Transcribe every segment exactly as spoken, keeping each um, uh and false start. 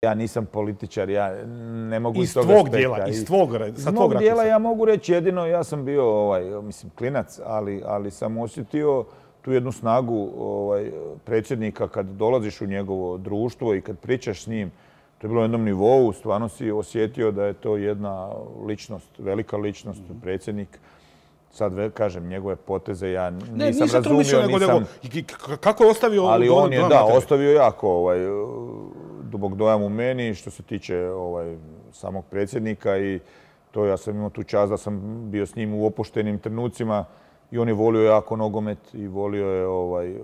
Ja nisam političar, ja ne mogu iz tvog dijela, iz tvog rakursa. Iz mog dijela ja mogu reći jedino, ja sam bio, ovaj, mislim, klinac, ali, ali sam osjetio tu jednu snagu ovaj, predsjednika kad dolaziš u njegovo društvo i kad pričaš s njim. To je bilo na jednom nivou, stvarno si osjetio da je to jedna ličnost, velika ličnost, predsjednik. Sad, kažem, njegove poteze ja nisam ne, nisam razumio, mišljeno, nisam... Nego, kako je ostavio... Ali on je, da, ostavio jako ovaj, dubok dojam u meni što se tiče ovaj, samog predsjednika i to ja sam imao tu čast da sam bio s njim u opuštenim trenucima i on je volio jako nogomet i volio je, ovaj,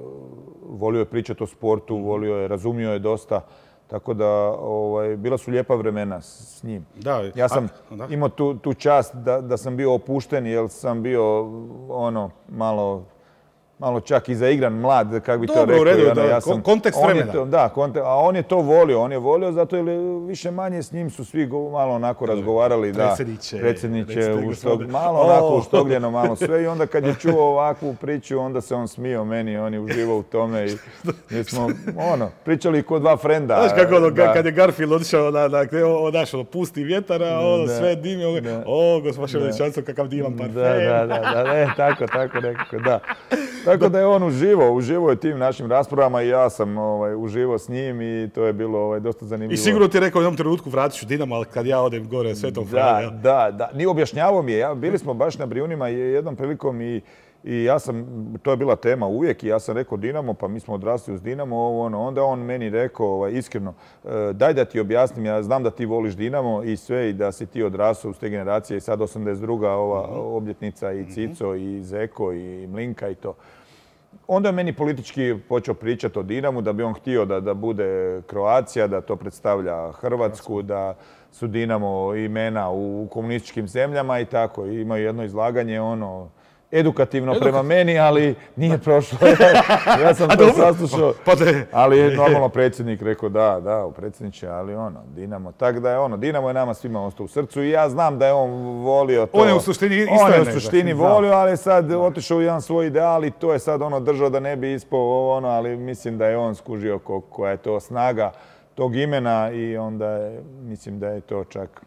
volio je pričati o sportu, volio je, razumio je dosta. Tako da, ovaj, bila su lijepa vremena s njim. Da, ja sam a, da. imao tu, tu čast da, da sam bio opušten, jer sam bio ono, malo, malo čak i zaigran, mlad, kako bi Dobro, to rekao. u redu, ono, da, ja sam, kontekst vremena. To, da, kontekst, a on je to volio, on je volio zato jer više manje s njim su svi malo onako razgovarali. Da, predsjedniče, predsjedniče u štog, malo onako uštogljeno, malo sve i onda kad je čuo ovakvu priču, onda se on smio meni, on je uživao u tome i mi smo, ono, pričali ko dva frenda. Znaš kako ono, kad je Garfield otišao na, na, naš, ono, pusti vjetara, ono, da, sve dimi, ono, o, gospodin Veličanstvo, kakav divan parfem. Da, da, da, da, ne, tako, tako nekako, da. Tako da je on uživao, uživao je tim našim raspravama i ja sam ovaj, uživao s njim i to je bilo ovaj, dosta zanimljivo. I sigurno ti je rekao u jednom trenutku vratit ću Dinamo, ali kad ja odem gore Svetom Franu. Da, da, da. Ni objašnjavao mi je. Ja, bili smo baš na Brijunima jednom prilikom i, i ja sam, to je bila tema uvijek i ja sam rekao Dinamo, pa mi smo odrasli uz Dinamo, ovo, ono. Onda on meni rekao ovaj, iskreno, daj da ti objasnim, ja znam da ti voliš Dinamo i sve i da si ti odrasao uz te generacije i sad osamdeset druga ova obljetnica i Cico i Zeko i Mlinka i to. Onda je meni politički počeo pričati o Dinamu, da bi on htio da, da bude Kroacija, da to predstavlja Hrvatsku, da su Dinamo imena u komunističkim zemljama i tako. I imaju jedno izlaganje, ono, edukativno prema meni, ali nije prošlo. Ja sam to saslušao, ali je normalno predsjednik rekao da, da, predsjedniče, ali ono, Dinamo. Tako da je ono, Dinamo je nama svima ostao u srcu i ja znam da je on volio to. On je u suštini isto On je u suštini volio, ali sad otišao u jedan svoj ideal i to je sad ono držao da ne bi ispao ono, ali mislim da je on skužio koja je to snaga tog imena i onda je, mislim da je to čak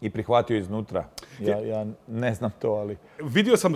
i prihvatio iznutra. Ja, ja ne znam to, ali... Vidio sam